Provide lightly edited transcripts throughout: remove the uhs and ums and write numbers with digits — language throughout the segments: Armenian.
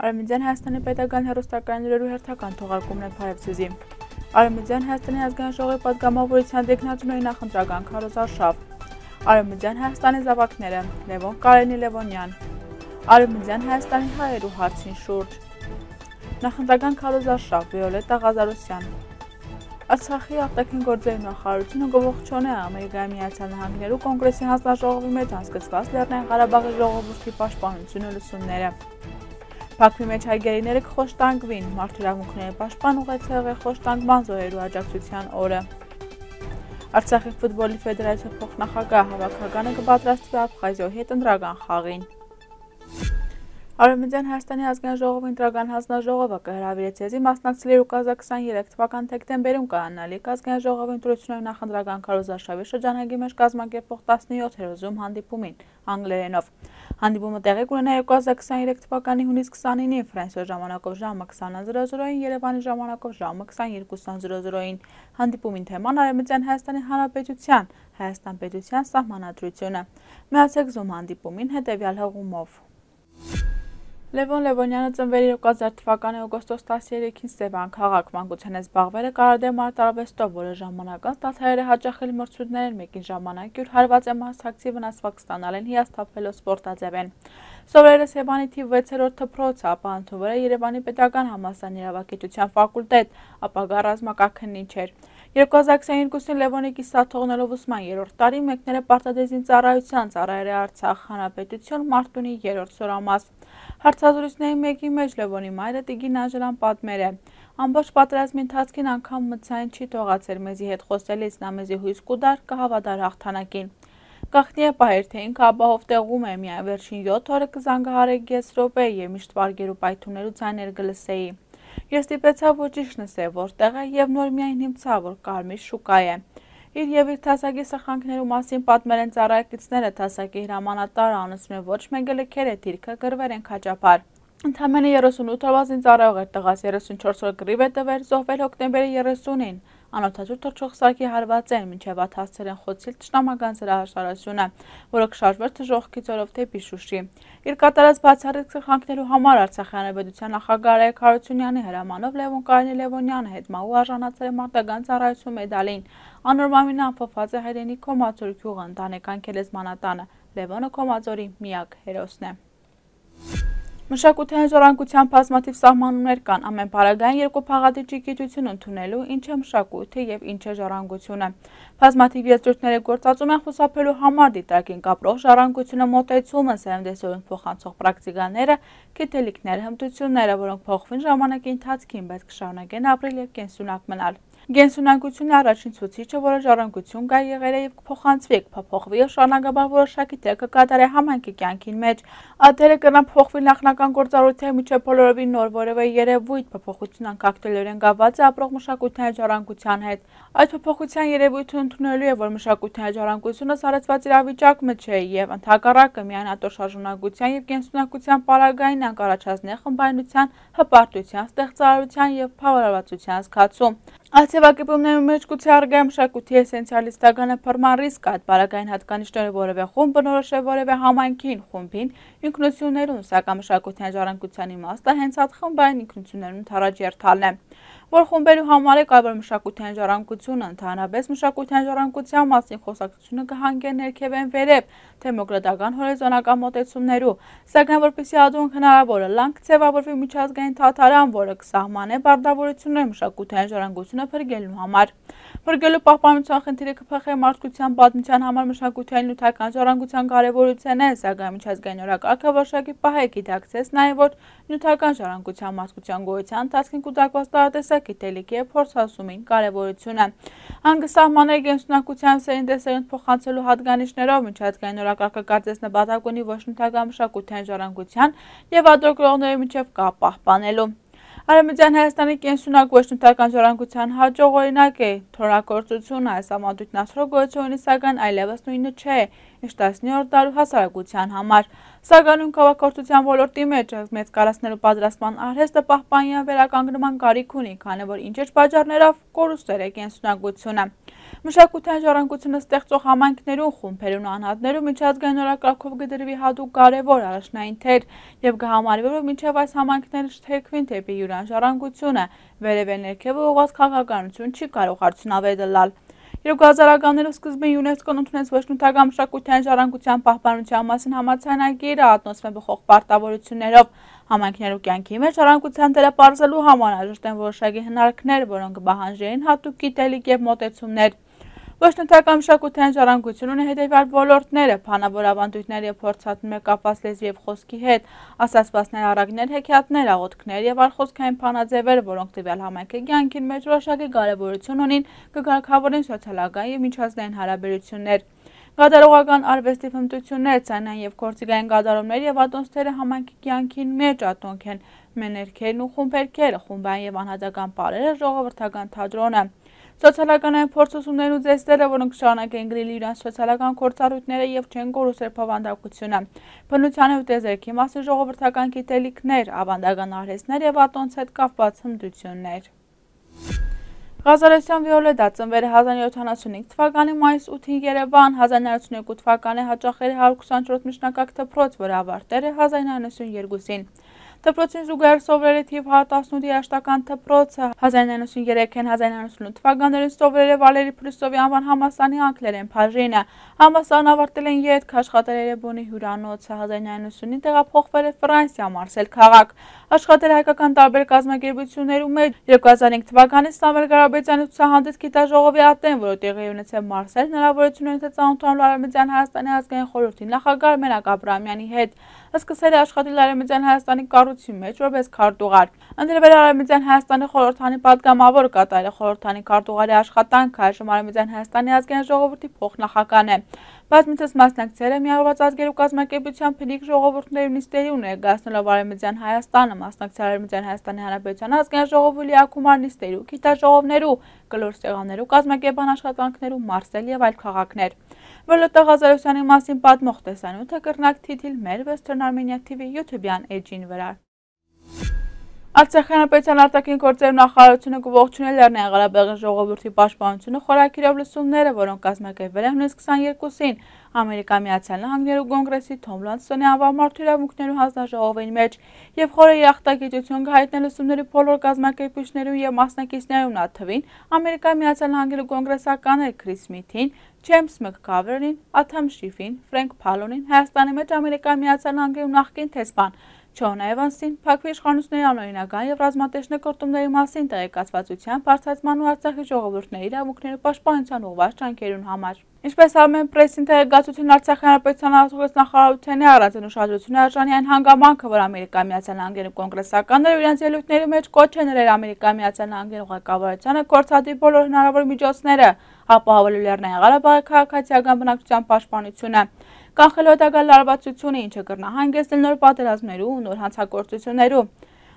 Արևմտյան Հայաստանի պետական հեռուստակայաններու հերթական թողարկումն է Փարեվսյուզի։ Արևմտյան Հայաստանի ազգային ժողովի պատգամավորության տեխնացուների նախընտրական քարոզարշավ։ Արևմտյան Հայաստանի զավակները Լևոն Կարենի Լևոնյան։ Արևմտյան Հայաստանի հայերու հարցին շուրջ։ Նախընտրական քարոզարշավ Վիոլետտա Ղազարոսյան։ Արցախի արտաքին գործերի նախարարությունը գողողջոն է Ամերիկայի Միացյալ Նահանգներու կոնգրեսի հանձնաժողովի մեջ անցկացված Լեռնային Ղարաբաղի ժողովրդի պաշտպանությունը լսումները։ Բաքվի մեջ հայգերիները կխոշտանգվին, մարդու իրավունքների պաշտպան ուղեցեղի խոշտանգման զոհերու աջակցության օրը։ Արցախի ֆուտբոլի ֆեդերացիա փոխնախագահ հավաքականը կպատրաստվի Աբխազիոյի հետ ընտրական խաղին։ Արևմտյան Հայաստանի ազգային ժողովի ընտրական հանձնաժողովը կհրավիրեց եզի մասնակցել 2023 թվական դեկտեմբերում կայանալիք ազգային ժողովի ընտրությունների նախընտրական քարոզարշավի շրջանագի մեջ կազմակերպող 17-րդ հանդիպումին անգլերենով։ Հանդիպումը տեղի կունենա 2023 թվականի հունիս 29-ին Ֆրանսիայի ժամանակով ժամը 20:00-ին, Երևանի ժամանակով ժամը 22:00-ին։ Հանդիպումին թեման Արևմտյան Հայաստանի Հանրապետության Հայաստան պետության սահմանադրությունը։ Միացեք Zoom հանդիպումին հետևյալ հղումով։ Լևոն Լևոնյանը ծնվել 2000 թվականի օգոստոս 13-ին Սևան քաղաք, մանկության է զբաղվել է կարադեմ արտարվեստով, որը ժամանակած տաթարերը հաճախել մրցույթներ են, մեկին ժամանակ յուր հարված է մասնակցի վնասվածք ստանալ են հիասթափվելով սպորտաձևեն։ Սովորել է Սևանի թիվ 6-րդ դպրոցը, ապա ընդունվել է Երևանի պետական համալսարանի իրավագիտության ֆակուլտետ, ապագա ռազմակարգնիչ էր։ 2022-ին Լևոնի կիսատ թողնելով ուսման 3-րդ տարի մեկնել է պարտադեզին ծառայության, ծառայել է Արցախ Հանրապետություն Մարտունի 3-րդ սորամաս։ Հարցազրույցների մեկի մեջ Լևոնի մայրը Տիգին Անժելան պատմել է. ամբողջ պատերազմի ընթացքին անգամ մցային չի թողացել մեզի հետ խոսելիս, նա մեզի հույս կուտար կհավատար հաղթանակին։ Գաղտնի է պահեր, թե ինքը ապահով տեղում է, միայն վերջին 7 օրը կզանգահարեք ես րոպե եւ միշտ վարգերու պայթուններու ձայներ կլսեի։ Ես ստիպեցա որ ճիշտ նսե որտեղ է եւ նոր միայն հիմցա որ կարմիր շուկա է։ Իր եւ իր թասակի սխրանքներու մասին պատմել են ծառայակիցները, թասակի հրամանատարը անցնում է ոչ մեկը լքեր է դիրքը գրվել են քաջապար։ Ընդամենը 38 օրվա զինծառայող էր տղաս, 34 օր գրիվ է տվել, զոհվել հոկտեմբերի 30-ին։ Անօթաչու թռչող սարքի հարված են, մինչև ատ հասցել են խոցիլ թշնամական զրահաշարությունը, որը կշարժվեր թժողքի ձորով դեպի Շուշի։ Իր կատարած բացառիկ սխրանքներու համար Արցախի հանրապետության նախագահ Արայք Հարությունյանի հրամանով Լևոն Կարենի Լևոնյանը հետմահու արժանացել է մարտական ծառայություն մեդալին։ Անորմամին ամփոփված է հայրենի Քոմածոր գյուղը, ընտանեկան քելեզմանատանը։ Լևոնը Քոմածորի միակ հերոսն է։ Մշակութային ժառանգության բազմաթիվ սահմանումներ կան, ամեն պարագային երկու փաղադիճի գիտություն ընդունելու, ինչ է մշակույթը եւ ինչ է ժառանգությունը։ Բազմաթիվ եզրույթները գործածում են խուսափելու համար դիտարկին կապրող ժառանգությունը մոտեցումը, սերնդեսորեն փոխանցող պրակտիկաները, գիտելիքները, հմտությունները, որոնք փոխվին ժամանակի ընթացքին, բայց կշարունակեն ապրել եւ կենսունակ մնալ։ Գենսունակությունը առաջին ցուցիչը, որը ժառանգություն կա եղել է եւ կփոխանցվի, կփոխվի եւ շարունակաբար որոշակի դեր կկատարի համայնքի կյանքին մեջ։ Ադերը կնան փոխվի նախնական գործառույթների միջև բոլորովին նոր որևէ երևույթ, փոփոխություն անկախտելորեն գաված է ապրող մշակութային ժառանգության հետ։ Այդ փոփոխության երևույթը ընդունելու է, որ մշակութային ժառանգությունը սարեցված իրավիճակում չէ եւ ընդհակառակը միայն ատոր շարժունակության եւ կենսունակության պարագային անկառաջացնի խմբայնության, հպարտության, ստեղծարարության եւ փավարարվածության զգացում։ Ալցեվակեպումների մեջ գուցե առգա մշակույթի էսենցիալիստական փռման ռիսկ այդ պարագային հատկանիշները որևէ խումբ բնորոշ է որևէ համայնքին, խումբին, ինքնություններուն, սակայն մշակութային ժառանգության իմաստը հենց այդ խմբային ինքնություններուն թարաջերթալն է, որ խումբերու համար է կարևոր մշակութային ժառանգությունը, ընդհանրապես մշակութային ժառանգության մասին խոսակցությունը կհանգե ներքևեն վերև, դեմոկրատական հորիզոնական մոտեցումներու, սակայն որպեսզի ադունք հնարավոր լանք ձևավորվի միջազգային թաթարան, որը կսահմանե բարդավորություններ մշակութային ժառանգությունը փրկելու համար։ Փրկելու պահպանության խնդիրը կփոխի մարդկության պատմության համար մշակութային նյութական ժառանգության կարևորությունն է, սակայն միջազգային օրակարգը որոշակի պահ է գիտակցեց նաև որ նյութական ժառանգության մարդկության գոյության ընթացքին կուտակված տարատեսակ գիտելիքի եւ փորձասումին կարևորությունը։ Հանգստահմանների գենսունակության սերնդեսերունդ փոխանցելու հատկանիշներով միջազգային օրակարգը կարծես նպատակ ունի ոչ նյութական մշակութային ժառանգության եւ ադրոկրողների միջև կապ պահպանելու։ Արևմտյան Հայաստանի կենսունակ ոչ նյութական ժառանգության հաջող օրինակ է թորակործությունը, այս համադրույթն ասրող գոյությունի սակայն այլևս նույնը չէ, ինչ 19-րդ դարու հասարակության համար։ Սակայն քաղաքակրթության ոլորտի մեջ մեծ կառուցնելու պատրաստման արհեստը պահպանյան վերականգնման կարիք ունի, քանի որ ինչ-ինչ պատճառներով կորուստել է կենսունակությունը։ Մշակութային ժառանգությունը ստեղծող համայնքներում, խումբերում ու անհատներում միջազգային օրակարգով կդրվի հատուկ կարևոր առաջնային թեր եւ կհամարվի, որ մինչեւ այս համայնքները չթեքվին դեպի յուրան ժառանգությունը, վերև ներքև ուղղված քաղաքականություն չի կարող արդյունավետ լալ։ 2000-ականներու սկզբին ՅՈՒՆԵՍԿՕ-ն ընդունեց ոչնութական մշակութային ժառանգության պահպանության մասին համաձայնագիրը, ակնոցվում է բխող պարտավորություններով։ Համայնքներու կյանքի մեջ ժառանգության դերը պարզելու համար անհրաժեշտ են որոշակի հնարքներ, որոնք կպահանջեն հատուկ գիտելիք եւ մոտեցումներ։ Ոչնութական մշակութային ժառանգությունը ունի հետևյալ ոլորտները՝ բանավոր ավանդույթներ եւ փորձառություններ կապված լեզվի եւ խոսքի հետ, ասացվածքներ, առակներ, հեքիաթներ, աղոթքներ եւ արխոսքային բանաձևեր, որոնք տվյալ համայնքի կյանքի մեջ որոշակի կարեւորություն ունին, կկարգավորեն սոցիալական եւ միջազգային հարաբերություններ։ Կատարողական արվեստի հմտություններ, ցանային եւ գործիքային կատարումներ եւ ատոնցները համայնքի կյանքին մեջ ատոնք են մեներքերն ու խումբերքերը, խումբային եւ անհատական պարերը, ժողովրդական թատրոնը։ Սոցիալական փորձություններն ու ձեստերը, որոնք շարունակեն գրել իրենց սոցիալական գործառույթները եւ չեն կորուսել բովանդակությունը, բնության ու տեզերքի մասին ժողովրդական գիտելիքներ, ավանդական արհեստներ եւ ատոնց հետ կապված հմտություններ։ Ղազարեսյան Վիոլետա ծնվել է 1975 թվականի մայիս 8-ին Երևան, 1992 թվականի հաճախել է 124 միջնակարգ դպրոց, որը ավարտել է 1992-ին։ Դպրոցին զուգահեռ սովորել է թիվ 118 երաժշտական դպրոցը, 1993-1998 թվականներին սովորել է Վալերի Փրիսովի անվան համալսարանի անգլերեն բաժինը, համալսարանը ավարտել են ետք, աշխատել Երևանի հյուրանոցը, 1990-ին տեղափոխվել է Ֆրանսիա, Մարսել քաղաք, աշխատել հայկական տարբեր կազմակերպություններում մեջ, 2005 թվականին Սամվել Ղարաբեդյանի ցուցահանդես գիտաժողովի ատեն, որը տեղի ունեցավ Մարսել, հնարավորություն ունեցավ ծանոթանալ Արևմտյան Հայաստանի ազգային խորհրդի նախագահ Մենակ Աբրահամյանի հետ, սկսել է աշխատել Արևմտյան Հայաստանի կառույցի մեջ որպես քարտուղար։ Ընտրվել է Արևմտյան Հայաստանի խորհրդանի պատգամավոր, կատարել է խորհրդանի քարտուղարի աշխատանքը, այժմ Արևմտյան Հայաստանի ազգային ժողովրդի փոխնախագահ է։ Բազմիցս մասնակցել է Միավորված ազգերու կազմակերպության փնիկ ժողովուրդների նիստերին, ներկայացնելով Արևմտյան Հայաստանը, մասնակցել Արևմտյան Հայաստանի Հանրապետության ազգային ժողովի լիակումար նիստերու, գիտաժողովներու, կլոր ստեղաններու, կազմակերպական աշխատանքներու, Մարսել եւ այլ քաղաքներ։ Վիոլետա Ղազարեսյանի մասին պատմող տեսանյութը կրնակ թիթիլներ Western Armenia TV YouTube-յան էջին վրա։ Արցախի հանրապետության արտաքին գործերի նախարարությունը կողջունել Լեռնային Ղարաբաղի ժողովրդի պաշտպանությունը խորակիրով լսումները, որոնք կազմակերպվել են հունիսի 22-ին Ամերիկայի Միացյալ Նահանգներու կոնգրեսի Թոմ Լանսոնի անվան մարդու իրավունքներու հանձնաժողովի մեջ եւ խորը երախտագիտություն կհայտնել լսումների բոլոր կազմակերպիչներու եւ մասնակիցներու նաթվին Ամերիկայի Միացյալ Նահանգներու կոնգրեսականներ Քրիս Սմիթին, Ջեյմս Մքքավերին, Աթամ Շիֆին, Ֆրենկ Փալոնին, Հայաստանի մեջ Ամերիկայի Միացյալ Նահանգներու նախկին տեսփան Ջոն Էվանսին, Փակվի իշխանությունների անօրինական եւ ռազմատեխնիկ գործումների մասին տեղեկացվածության բարձրացման ու Արցախի ժողովուրդների իրավունքների պաշտպանության ուղղված ջանքերուն համար։ Ինչպես Armenpress-ին տեղեկացություն Արցախի հանրապետության արտգործնախարարության առանձին ուշադրություն արժանի այն հանգամանքը, որ Ամերիկայի Միացյալ Նահանգների կոնգրեսականները իրենց ելույթների մեջ կոչ են ներել Ամերիկայի Միացյալ Նահանգների ղեկավարությանը գործադիր բոլոր հնարավոր միջոցները ապահովելու Լեռնային Ղարաբաղի քաղաքացիական բնակչության պաշտպանությունը, կանխելու հետագա լարվածությունը, ինչը կրնահանգեցնել նոր պատերազմներու ու նոր հանցագործություններու։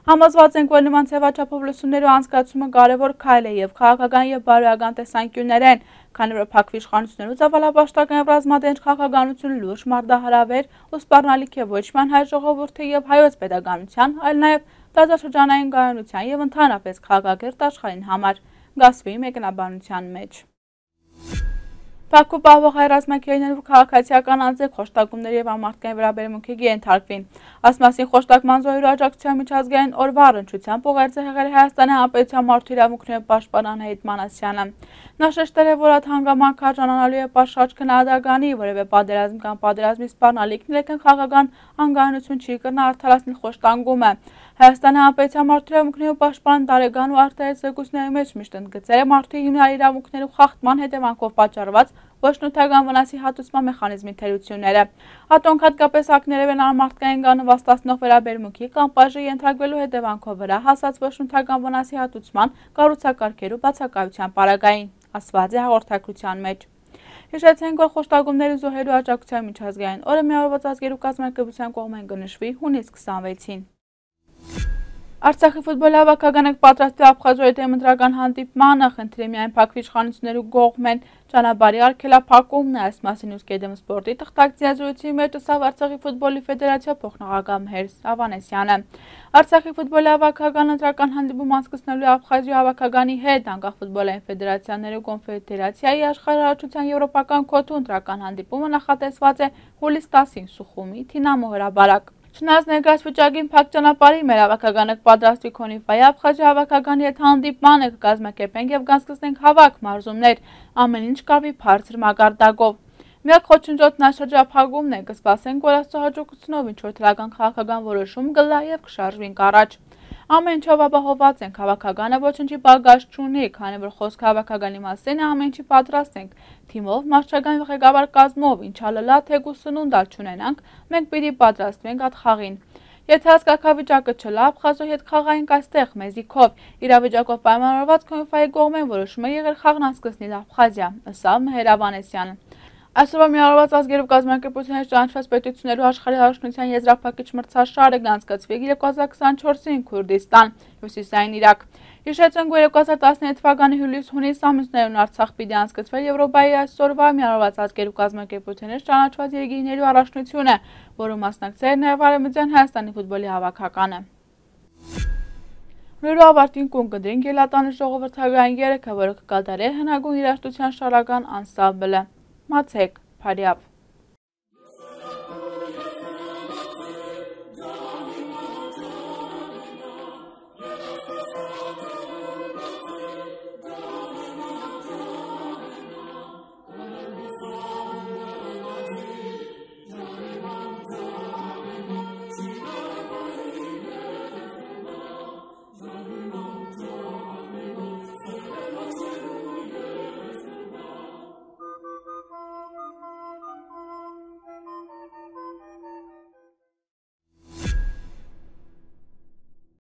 Համոզված ենք, որ նման ձևաչափով լսումներու անցկացումը կարևոր քայլ է եւ քաղաքական եւ բարոյական տեսանկյուններ են, քանի որ Փակվի իշխանություններու ծավալապաշտական եւ ռազմադենչ քաղաքականությունը լուրջ մարտահրավեր ու սպառնալիք է ոչ միայն հայ ժողովրդի եւ հայոց պետականության, այլ նաեւ տարածաշրջանային կայունության եւ ընդհանրապես քաղաքակիրթ աշխարհին համար։ Գասվի մեկնաբանության մեջ Բաքու պահվող հայ ռազմակերպներու քաղաքացիական անձեր խոշտակումների եւ ամարտկային վերաբերմունքի ենթարկվին։ Ասմասին խոշտակման զոհերու աջակցության միջազգային օրվա առնչությամբ ուղերձ է եղել Հայաստանի Հանրապետության մարդու իրավունքների պաշտպան Անահիտ Մանասյանը։ Նա շեշտել է, որ այդ հանգամանքը արժանանալու է պատշաճ քննադատանի, որևէ պատերազմ կամ պատերազմի սպառնալիքն իրական քաղաքական անկայունություն չի կրնա արդարացնել խոշտանգումը։ Հայաստանի Հանրապետության մարդու իրավունքների պաշտպան տարեկան ու արտահայտ զեկույցների մեջ միշտ ընդգծել է մարդու հիմնարար իրավունքներու խախտման հետևանքով պատճառված ոչնութական վնասի հատուցման մեխանիզմի թերությունները։ Ատոնք հատկապես ակներև են անմարդկային կամ նվաստացնող վերաբերմունքի կամ պատժի ենթարկվելու հետևանքով վրա հասած ոչնութական վնասի հատուցման կառուցակարգերու բացակայության պարագային, ասված է հաղորդակցության մեջ։ Հիշեցենք, որ խոշտակումների զոհերու աջակցության միջազգային օրը Միավորված ազգերու կազմակերպության կողմէն կնշվի հունիսի 26-ին։ Արցախի ֆուտբոլի հավաքականը պատրաստի Աբխազիայի դեմ ընտրական հանդիպմանը, խնդրի միայն փակվի իշխանությունների կողմեն ճանապարհի արգելափակումն է, այս մասին Ուսկեդեմ սպորտի թղթակցի մեջ ասավ Արցախի ֆուտբոլի ֆեդերացիա փոխնախագահ Մհեր Ավանեսյանը։ Արցախի ֆուտբոլի հավաքականը ընտրական հանդիպում անցկացնելու Աբխազիայի հավաքականի հետ անկախ ֆուտբոլային ֆեդերացիաների կոնֆեդերացիայի աշխարհահռչության եվրոպական քոթու ընտրական հանդիպումը նախատեսված է հուլիս 10-ին Սուխումի Թինամո հրաբարակ։ Չնայած ներկայիս վիճակին փակ ճանապարհի մեր հավաքականը կպատրաստվի Քոնիֆայի Աբխազիայի հավաքականի հետ հանդիպմանը կկազմակերպենք եւ կանցկացնենք հավաք մարզումներ, ամեն ինչ կավի բարձր մակարդակով։ Միակ խոչընդոտն շրջափակումն է, կսպասենք, որ Աստծո հաջողությունով ինչ-որ թվական քաղաքական որոշում կլա եւ կշարժվենք առաջ։ Ամեն ինչով ապահովված ենք, հավաքականը ոչնչի բագաժ չունի, քանի որ խոսքը հավաքականի մասին է, ամեն ինչի պատրաստ ենք, թիմով, մարզչական ղեկավար կազմով, ինչ ալլա թեկուս սնունդալ չունենանք, մենք պիտի պատրաստվենք այդ խաղին։ Եթե հասկացավիճակը չլա, Աբխազիայի հետ խաղայինք այստեղ մեզի քով, իրավիճակով պայմանավորված Քոնիֆայի կողմեն որոշում է եղել խաղն անցկացնել Աբխազիա, ըստ Մհեր Ավանեսյանը։ Այսօրվա միավորված ազգերով կազմակերպությունների ճանաչված պետություններու աշխարհի հարաբերության եզրափակիչ մրցաշարը կանցկացվի 2024-ին Քուրդիստան, Հյուսիսային Իրաք։ Հիշեցնենք, որ 2019 թվականի հուլիս-հունիս ամիսներուն Արցախ պիտի անցկացվի Եվրոպայի այսօրվա միավորված ազգերով կազմակերպությունների ճանաչված երկրներու առաջնությունը, որը մասնակցել է նաև Արևմտյան Հայաստանի ֆուտբոլի հավաքականը։ Նույնու ավարտին կունկնդրին գելատանի ժողովրդական երեքը, որը կկատարի հնագույն երաժշտության շարական անսամբլը։ Մացեք, Փարիավ։